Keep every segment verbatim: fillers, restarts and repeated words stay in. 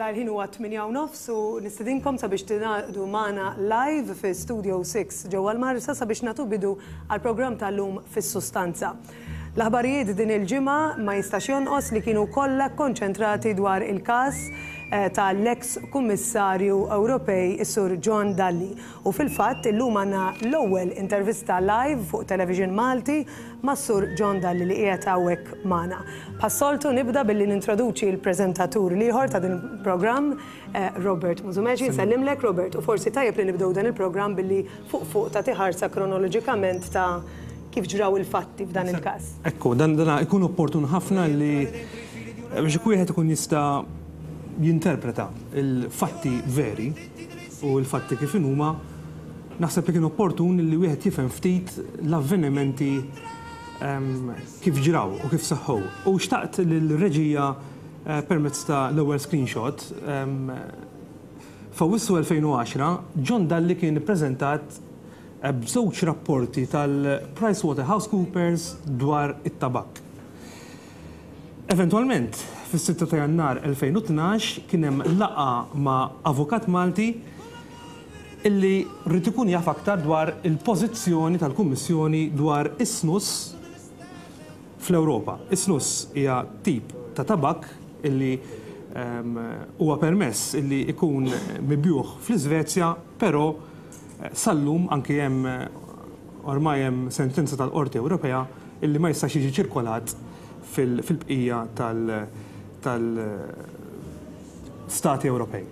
Mela l-ħin huwa tmienja u nofs u nistedinkom sabiex tingħaqdu magħna live fi Studio sitta ġewwa l-Marsa sabiex nagħtu bidu għal programm tal-lum Fis-Sustanza. L-aħbarijiet din il-ġimgħa ma jistax jonqos li kienu kollha konċentrati dwar il-każ eh, tal-ex kummissarju Ewropej, is-Sur John Dalli. U fil-fatt illum għandna l-ewwel intervista live fuq Television Malti mas-Sur John Dalli li qiegħed hawnhekk magħna. Bħas-soltu nibda billi nintroduċi l-preżentatur l-ieħor ta' din il-programm, eh, Robert Musumeci. Nsellimlek, Robert, u forsi tajjeb li nibdew dan il-programm billi fuq fuq ta' ħarsa kronoloġikament ta' kif ġraw il-fatti f'dan il-każ. Ekku, dan dan ikun opportun ħafna li biex wieħed ikun jista' jinterpreta il-fatti veri u l-fatti kif huma, naħseb li kien opportun li wieħed jifhem ftit l-avvenimenti em, kif ġraw u kif saħħu. U xtaqt l-reġija eh, permezz ta' l-ewwel screenshot em, f'Awwissu elfejn u għaxra John Dalli kien ippreżentat eh, b'żewġ rapporti tal-PricewaterhouseCoopers dwar it-tabak. Eventualment, fis-sitta ta' Jannar elfejn u tnax kien hemm laqgħa ma' avukat Malti illi rrid ikun jaf aktar dwar il-pożizzjoni tal-Kummissjoni dwar is-snus fl-Ewropa. Is-snus hija tip ta' tabak illi em, huwa permess illi ikun mibjugħ fl-Iżvezja, però eh, sal-lum anki hemm eh, ormai hemm sentenza tal-Qorti Ewropea illi ma jistax jiġi ċirkolat fil- fil-bqija tal-Stati Ewropej.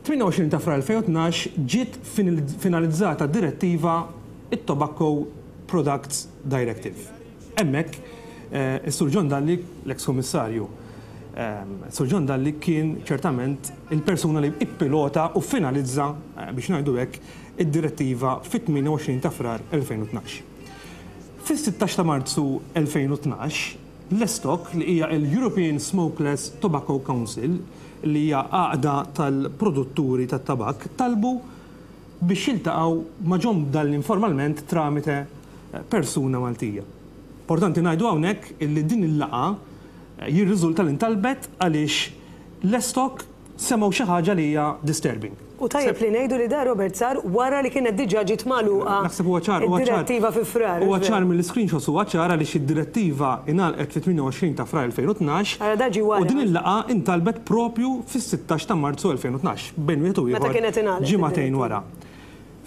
tmienja u għoxrin ta' Frar elfejn u tnax ġiet finalizzata direttiva, it-Tobacco Products Directive. Hemmhekk, eh, is-Sur John Dalli, l-ex-komissarju, eh, Sur John Dalli kien ċertament il-persuna li ippilota u finalizza, eh, biex ngħidu hekk, id-direttiva fit-tmienja u għoxrin ta' Frar elfejn u tnax. Fis-sittax ta' Marzu elfejn u tnax, l-ESTOC, li hija l-European Smokeless Tobacco Council, li hija għaqda tal-produtturi tat-tabak, talbu biex jiltaqgħu ma' John Dalli informalment tramite eh, persuna Maltija. Importanti ngħidu hawnhekk illi din il-laqgħa eh, jirriżulta li ntalbet għaliex l-ESTOC semgħu xi ħaġa li hija disturbing. U tajjeb li ngħidu li da, Robert, sar wara li kienet diġà ġiet magħluqa Naħseb huwa ċar, huwa ċar. id-direttiva fi Frar. Huwa ċar mill-screenshots, huwa ċar għaliex id-direttiva ingħalqet fit-tmienja u għoxrin ta' Frar elfejn u tnax Ara da ġie wara. u din il-laqgħa intalbet propju fis-sittax ta' Marzu elfejn u tnax, bejn wieħed u Meta ieħor kienet ingħalqet ġimagħtejn id-direttiva. wara.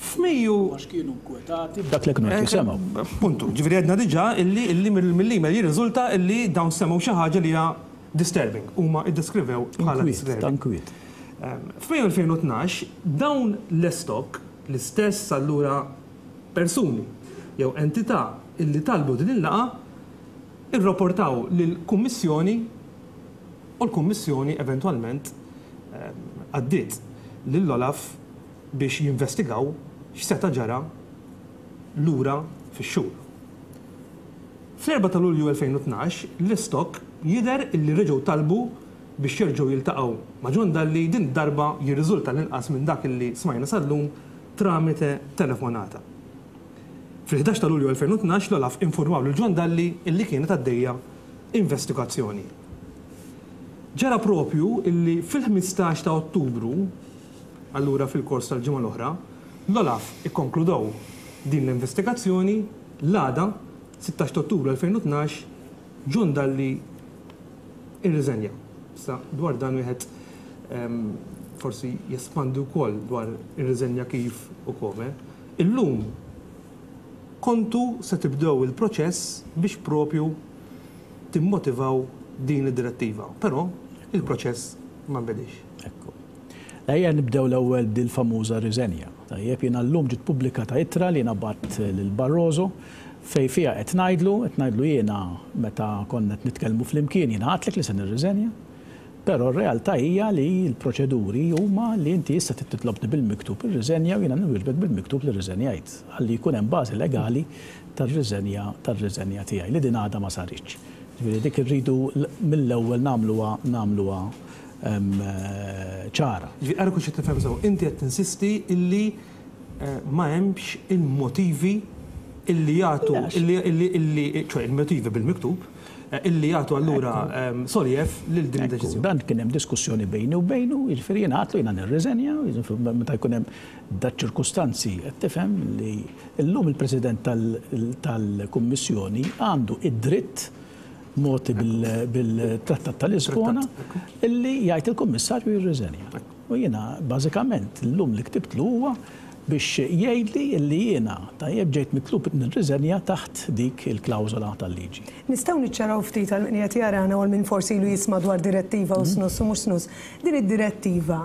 F'Mejju Għax kienu nkwetati b'dak li kienu qed jisimgħu. Puntu, ġifieri għedna diġà illi illi mill-email jirriżulta illi dawn semgħu xi ħaġa li hija disturbing. Huma iddeskrivew bħala Inkwiet, disturbing. Ta' inkwiet. F'Mejju elfejn u tnax dawn l-ESTOC, l-istess allura persuni jew entità illi talbu din il-laqgħa, irrapportaw lill-Kummissjoni u l-Kummissjoni eventwalment ehm, għaddiet lill-Olaf biex jinvestigaw x'seta' ġara lura fix-xhur. Fl-erbgħa ta' Lulju elfejn u tnax l-ESTOC jidher illi reġgħu talbu biex jerġgħu jiltaqgħu ma' John Dalli, din darba jirriżulta l-inqas minn dak illi smajna sal-lum tramite telefonata. Fil-ħdax ta' Lulju elfejn u tnax l-Olaf informaw lil John Dalli illi kienet għaddejja investigazzjoni. Ġara propju illi fil-ħmistax ta' Ottubru, allura fil-kors tal-ġimgħa l-oħra, l-Olaf ikkonkludew din l-investigazzjoni. L-għada, sittax ta' Ottubru elfejn u tnax, John Dalli irriżenja. Issa dwar dan wieħed em, forsi jespandi wkoll dwar irriżenja kif u kome. Illum kontu se tibdew il-proċess biex propju timmotivaw din id-direttiva, però il-proċess ma nbedix. Ekku. Ejja nibdew l-ewwel bil famuża riżenja. Tajjeb, jiena llum ġiet pubblikata ittra li jiena bgħatt lil Barroso fej fiha qed ngħidlu, qed ngħidlu jiena meta konna qed nitkellmu flimkien jiena għedtlek li se nirriżenja. Però r-realtà hija li l-proċeduri huma li inti issa titlobni bil-miktub ir-riżenja u jiena nwieġbek bil-miktub li rriżenjajt ħalli jkun hemm bażi legali tar-riżenja tar-riżenja tiegħi, li din għadha ma saritx. Ġifieri dik irridu mill-ewwel nagħmluha nagħmluha em, eh, ċara. Ġifieri għara kux tifhem sew, inti qed tinsisti illi eh, ma hemmx il-motivi illi jagħtu Le, illi illi illi ċoè il-motivi bil-miktub illi jagħtu allura soljev lil din id-deċiżjoni. Dan kien hemm diskussjoni bejni u bejnu, jiġifieri jiena għedtlu jiena nirriżenja, meta jkun hemm daċ-ċirkustanzi qed tifhem li llum il-President tal-Kummissjoni għandu id-dritt mogħti bil-Trattat ta' Lisbona illi jgħid il-Kummissarju jirriżenja. U jiena bażikament llum li ktibtlu huwa biex jgħidli li jiena tajjeb ġejt mitlub nirriżenja taħt dik il-klawżola tal-liġi. Nistgħu niċċaraw ftit għal min qed jarana u għal min forsi ilu jisma' dwar direttiva u snus u mhux snus. Din id-direttiva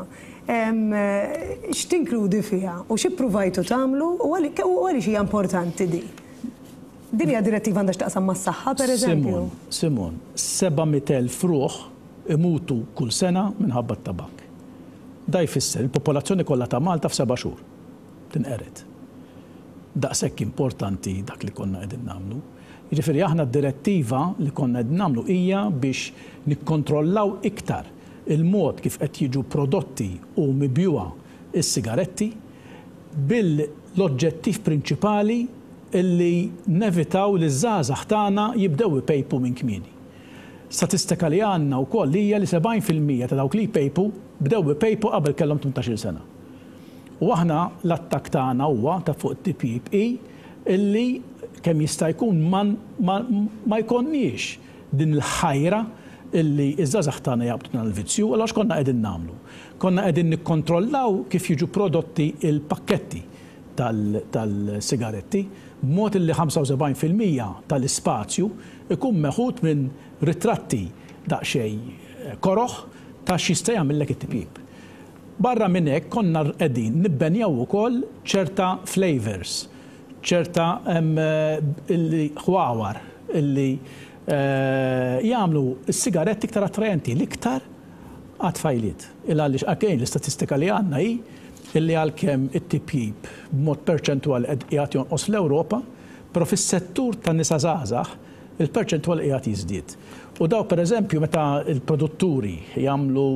x'tinkludi fiha u x'ippruvajtu tagħmlu u għaliex hija importanti di? Din hija direttiva għandha x'taqsam mas-saħħa pereżempju? Simon, seba' mitt elf ruħ imutu kull sena minħabba t-tabak. Da jfisser il-popolazzjoni kollha ta' Malta f'seba' xhur tinqered. Daqshekk importanti dak li konna qegħdin nagħmlu. Jiġifieri aħna d-direttiva li konna qegħdin nagħmlu hija biex nikkontrollaw iktar il-mod kif qed jiġu prodotti u mibjuha s-sigaretti bil-oġġettiv prinċipali illi nevitaw li ż-żgħażagħ tagħna jibdew ipejpu minn kmieni. Statistika li għandna wkoll hija li sebgħin fil-mija ta' dawk li jpejpu bdew ipejpu qabel kellhom tmintax-il sena. U aħna l-attakk tagħna huwa ta' fuq it-T P I illi kemm jista' jkun ma jkollniex din il-ħajra illi iż-żgħażagħ tagħna jaqbdu dan il-vizzju, allura x'konna qegħdin nagħmlu? Konna qegħdin nikkontrollaw kif jiġu prodotti il-pakketti tal-sigaretti b'mod illi ħamsa u sebgħin fil-mija tal-ispazju ikun meħud minn ritratti daqsxejn koroħ ta' x'jista' jagħmellek it-tipjib. Barra minn hekk konna qegħdin nibbenjaw ukoll ċerta flavors, ċerta ħwawar illi jagħmlu s-sigaretti iktar attrajenti, l-iktar għat-tfajliet. Il għaliex again l-istatistika li għandna hi illi għalkemm it-tipjib b'mod perċentwali qed qiegħed jonqos fl-Ewropa, però fis-settur tan-nisa żgħażagħ il-perċentwal qiegħed jiżdied. U daw pereżempju meta l-produtturi jagħmlu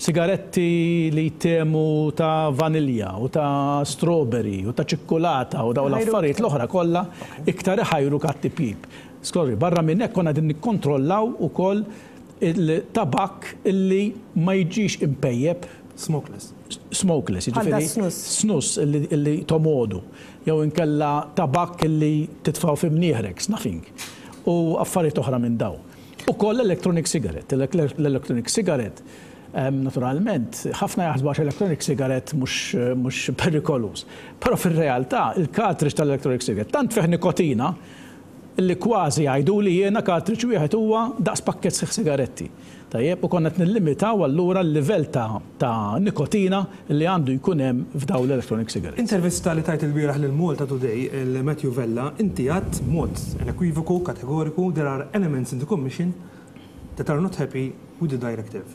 sigaretti li jtemu ta' vanilja u ta' strawberry u ta' ċikkulata u daw l-affarijiet l-oħra kollha iktar iħajru kat-tipjib. Skorri, barra minn hekk konna qegħdin nikkontrollaw ukoll il-tabak illi ma jiġix impejjeb. Smokeless. Smokeless, jiġifieri snus. Snus illi tomodu, jew inkella tabak illi titfaw fi mnieħrek, snuffing, u affarijiet oħra minn daw. Ukoll l-electronic cigarette. L-electronic cigarette, naturalment, ħafna jaħsbu għax electronic cigarette mhux perikoluż. Però fir-realtà il-cartridge tal-electronic cigarette tant fih nikotina illi kważi jgħidu li jiena cartridge wieħed huwa daqs pakkett sħiħ sigaretti. Tajjeb, u konna qed nillimitaw allura l-livell ta' nikotina li għandu jkun hemm f'dawn l-electronic cigarettes. Intervista li tajt il-bieraħ lil Malta Today, il-Matthew Vella, inti għadt b'mod unequivocal, kategoriku, there are elements in the Commission that are not happy with the directive.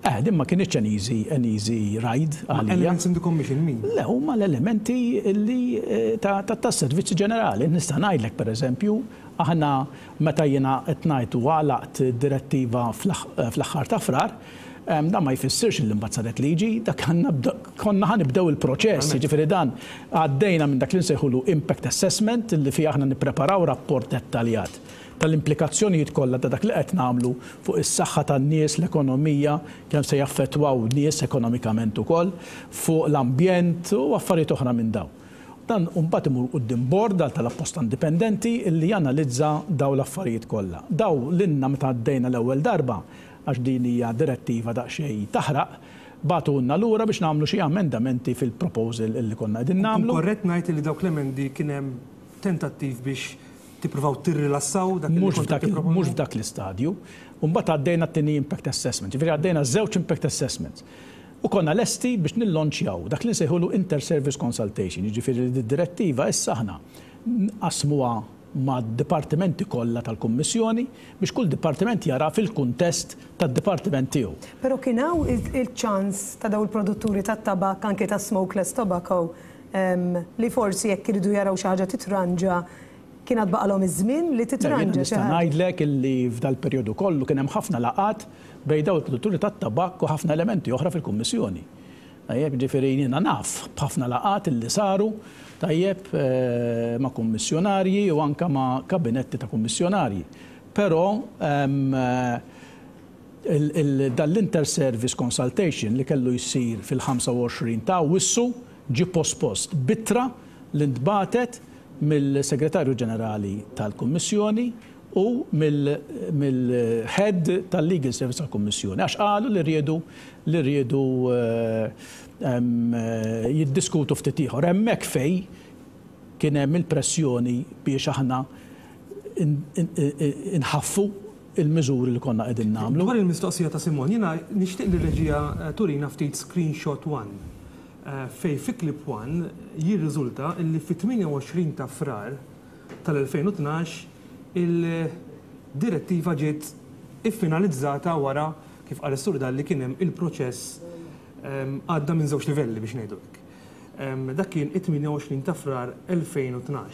Eh, din ma kienx an easy, an easy ride għalija. Elements in the Commission min? Le, huma l-elementi li ta' tas-servizzi ġenerali. Nista' ngħidlek pereżempju, aħna meta jiena qed ngħid u għalaqt direttiva fl-aħħar ta' Frar, dan ma jfissirx li mbagħad saret liġi, dak konna ħanibdew il-proċess, jiġifieri dan għaddejna minn dak li nsejħulu impact assessment li fih aħna nippreparaw rapport dettaljat tal-implikazzjonijiet kollha ta' dak li qed nagħmlu fuq is-saħħa tan-nies, l-ekonomija, kemm se jaffettwaw nies ekonomikament ukoll, fuq l-ambjent u affarijiet oħra minn dawn. Dan mbagħad imur quddiem bord għal tal-apposta indipendenti illi janalizza daw l-affarijiet kollha. Daw lilna meta għaddejna l-ewwel darba, għax din hija direttiva daqsxejn taħraq, bagħtulna lura biex nagħmlu xi amendamenti fil-proposal illi konna qegħdin nagħmlu. Korrett ngħid li dawk l-emendi kien hemm tentattiv biex tippruvaw tirrilassaw dak li Mhux kontu f'dak tipproponu? mhux f'dak l-istadju. U mbagħad għaddejna t-tieni impact assessment, ġifieri għaddejna żewġ impact assessments. U konna lesti biex nillonċjaw dak li nsejħulu inter-service consultation, jiġifieri li d-direttiva issa aħna nqasmuha ma' dipartimenti kollha tal-Kummissjoni biex kull dipartiment jara fil-kuntest tad-dipartiment tiegħu. Però kien hawn il-ċans ta' daw il-produtturi tat-tabak, anke ta' smokeless tobacco, li forsi jekk iridu jaraw xi ħaġa titranġa, kien għad baqalhom iż-żmien li titranġa xi Nista' ħaġa. ngħidlek illi f'dal-perjodu kollu kien hemm ħafna laqgħat bejn daw il-produtturi tat-tabak u ħafna elementi oħra fil-Kummissjoni. Tajjeb, ġifieri jiena naf b'ħafna laqgħat illi saru tajjeb ma' kummissjonarji u anka ma' kabinetti ta' kummissjonarji. Però dan l-inter-service consultation li kellu jsir fil-ħamsa u għoxrin ta' Awwissu ġie pospost b'ittra li ntbagħtet mill-Segretarju Ġenerali tal-Kummissjoni u mill-head tal-Legal Service tal-Kummissjoni, għax qalu li riedu li riedu jiddiskutu ftit ieħor. Hemmhekk fej kien hemm il-pressjoni biex aħna inħaffu il-miżuri li konna qegħdin nagħmlu. Dwar il-mistoqsija ta' Simon, jiena nixtieq li reġija turina ftit screenshot one fej fi clip one jirriżulta li fit-tmienja u għoxrin ta' Frar tal-elfejn u tnax il-direttiva ġiet iffinalizzata wara, kif qal is-Sur Dalli, kien hemm il-proċess għadda minn żewġ livelli biex ngħidu hekk. Dak kien it-tmienja u għoxrin ta' Frar elfejn u tnax.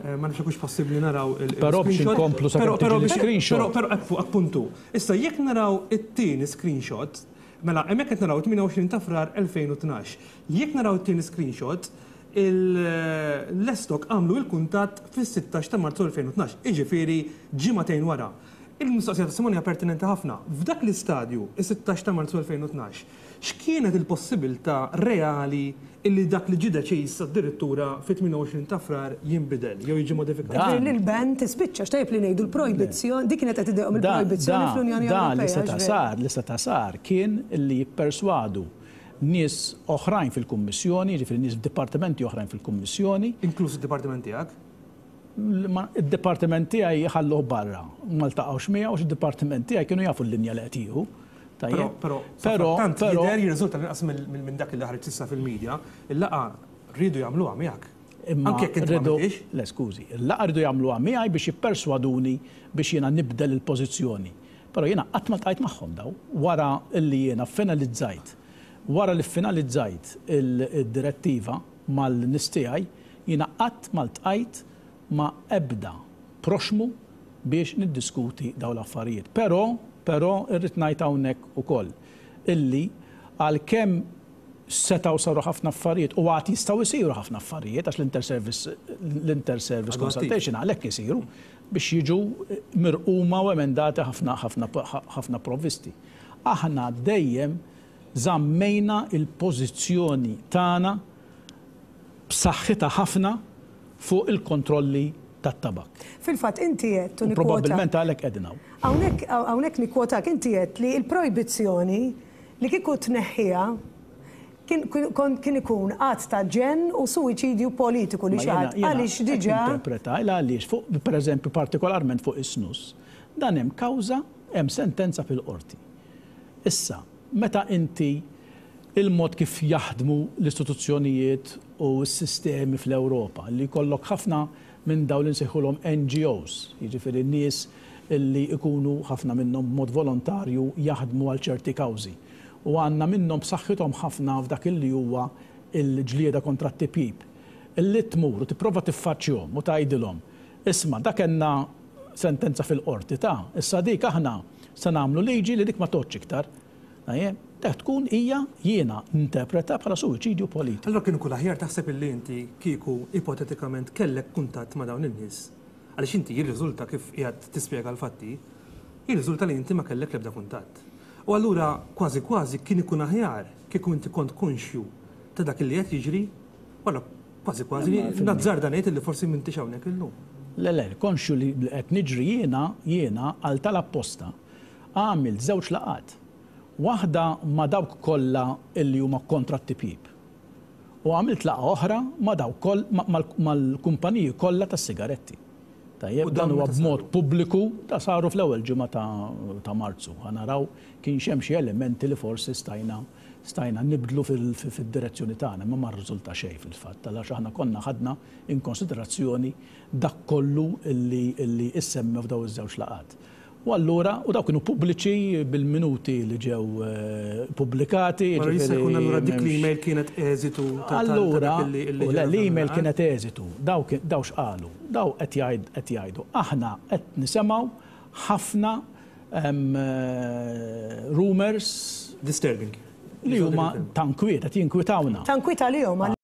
Ma nafx hux possibbli naraw il- Però biex screenshot. inkomplu sa' Però, kemm però tiġi biex- l-screenshot. Però, però, appu, appuntu. Issa jekk naraw it-tieni screenshot, mela hemmhekk qed naraw it-tmienja u għoxrin ta' Frar elfejn u tnax. Jekk naraw it-tieni screenshot, l-Estok għamlu il-kuntatt fis-sittax ta' Marzu elfejn u tnax, jiġifieri ġimagħtejn wara. Il-mistoqsija ta' Simon hija pertinenti ħafna. F'dak l-istadju, is-sittax ta' Marzu elfejn u tnax, x'kienet il-possibilità reali illi dak li ġie deċiż addirittura fit-tmienja u għoxrin ta' Frar jinbidel jew jiġi modifikat? Dan- Li l-ban tispiċċa, x'tajjeb li ngħidu l-projbizzjoni, dik kienet qed idejqhom Da- il-projbizzjoni da- fl-Unjoni Da li Ewropea, seta' x'veru? sar, li seta' sar kien li jipperswadu nies oħrajn fil-Kummissjoni, jiġifieri nies f'dipartimenti oħrajn fil-Kummissjoni. Inkluż id-dipartiment tiegħek? Ma id-dipartiment tiegħi ħalluh barra, ma ltaqgħux miegħu għax id-dipartiment tiegħi kienu jafu l-linja li qed jieħu. Però, Tajjeb. però, Però, tant però jidher jirriżulta inqas minn dak li ħareġ issa fil-medja, il-laqgħa rridu jagħmluha miegħek. Imma Anke jekk inti ma rridu għamiltix? Le, skużi, il-laqgħa rridu jagħmluha miegħi biex jipperswaduni biex jiena nibdel il-pożizzjoni. Però jiena qatt ma ltqajt magħhom daw wara li jiena finalizzajt. Wara li finalizzajt il-direttiva mal-nies tiegħi, jiena qatt ma ltqajt ma' ebda proxmu biex niddiskuti daw l-affarijiet. Però, però irrid ngħid hawnhekk ukoll illi għalkemm setgħu saru ħafna affarijiet u għad jistgħu jsiru ħafna affarijiet għax l-inter-service, l-inter-service Għadu attiv. consultation għalhekk isiru biex jiġu mirquma u emendati ħafna, ħafna, ħafna provvisti. Aħna dejjem żammejna il-pożizzjoni tagħna b'saħħitha ħafna fuq il-kontrolli tat-tabak. Fil-fatt inti qed U nikkwota. Probabbilment għalhekk qegħdin hawn. Hawnhekk, hawnhekk nikkwotak inti qed li l-projbizzjoni li kieku tneħħiha kien, kien, kien ikun att ta' ġenn u suwiċidju politiku li Ma xi ħadd jiena- jiena għaliex qed diġà Interpreta il għaliex fuq, per eżempju, partikolarment fuq is-snus, dan hemm kawża, hemm sentenza fil-qorti. Issa, meta inti il-mod kif jaħdmu l-istituzzjonijiet u s-sistemi fl-Ewropa, li jkollok ħafna minn dawn li nsejħulhom N G Os, jiġifieri nies illi ikunu ħafna minnhom b'mod volontarju jaħdmu għal ċerti kawżi. U għandna minnhom b'saħħithom ħafna f'dak illi huwa il-ġlieda kontra t-tipjip. Illi tmur u tipprova tiffaċċjhom u tgħidilhom, isma' dak kellna sentenza fil-qorti ta' issa dik aħna se nagħmlu liġi li dik ma tgħodx iktar. Tajjeb, dak tkun hija jiena ninterpreta bħala suwiċidju politiku. Allora kienu kull aħjar taħseb illi inti kieku ipotetikament kellek kuntatt ma' dawn in-nies. Għaliex inti jirriżulta kif qiegħed tispjega l-fatti, jirriżulta li inti ma kellek l-ebda kuntatt. U allura kważi kważi kien ikun aħjar kieku inti kont konxju ta' dak li qed jiġri, wara kważi kważi Imma fil- nazzarda ngħid illi forsi m'intix hawnhekk illum. Le, le, konxju li qed niġri jiena, jiena għal tal-apposta għamilt żewġ laqgħat. Waħda ma' dawk kollha illi huma kontra t-tipjip. U għamilt laqgħa oħra ma' dawk koll, ma-, mal-, mal-kumpaniji kollha tas-sigaretti. Tajjeb, U dan dawn huwa meta b'mod saru? pubbliku ta' saru fl-ewwel ġimgħa ta', ta' Marzu. Ħa naraw kien hemm xi elementi li forsi stajna, stajna nibdlu fil-, fil-, fid-direzzjoni tagħna, imma ma rriżulta xejn fil-fatt, għaliex aħna konna ħadna in konsiderazzjoni dak kollu illi, illi issemmew f'daw iż-żewġ laqgħat. U allura, u dawk kienu pubbliċi bil-minuti li ġew, eh, pubblikati, Ma jista' ġifieri jkun allura dik m'hemmx l-email kienet eżitu ta' ta' Allura, dak illi- illi u le, ġara l-email fl-aħħar? kienet eżitu. Daw kien-, daw x'qalu? Daw qed jgħid, qed jgħidu. Aħna qed nisimgħu ħafna, em, eh, rumors Disturbing. li huma tankwiet, qed jinkwitawna. Tankwiet għalihom,